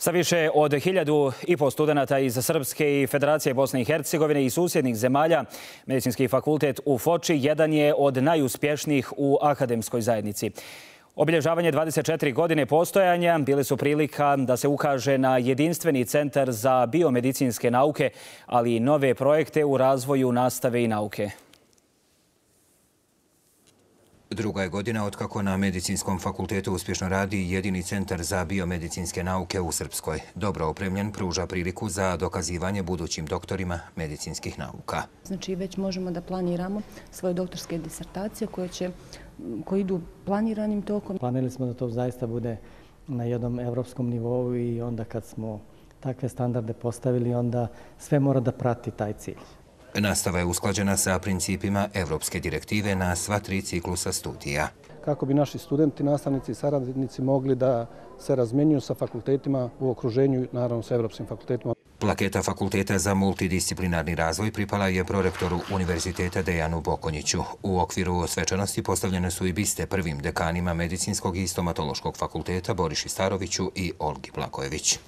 Sa više od 1.500 studenata iz Srpske i Federacije Bosne i Hercegovine i susjednih zemalja, Medicinski fakultet u Foči jedan je od najuspješnijih u akademskoj zajednici. Obilježavanje 24 godine postojanja bile su prilika da se ukaže na jedinstveni centar za biomedicinske nauke, ali i nove projekte u razvoju nastave i nauke. Druga je godina otkako na Medicinskom fakultetu uspješno radi jedini centar za biomedicinske nauke u Srpskoj. Dobro opremljen, pruža priliku za dokazivanje budućim doktorima medicinskih nauka. Znači već možemo da planiramo svoje doktorske disertacije koje idu planiranim tokom. Planirali smo da to zaista bude na jednom evropskom nivou i onda kad smo takve standarde postavili, onda sve mora da prati taj cilj. Nastava je usklađena sa principima Evropske direktive na sva 3 ciklusa studija. Kako bi naši studenti, nastavnici i saradnici mogli da se razmenjuju sa fakultetima u okruženju, naravno sa evropskim fakultetima. Plaketa Fakulteta za multidisciplinarni razvoj pripala je prorektoru Univerziteta Dejanu Bokonjiću. U okviru svečanosti postavljene su i biste prvim dekanima Medicinskog i Stomatološkog fakulteta Boriši Staroviću i Olgi Blagojević.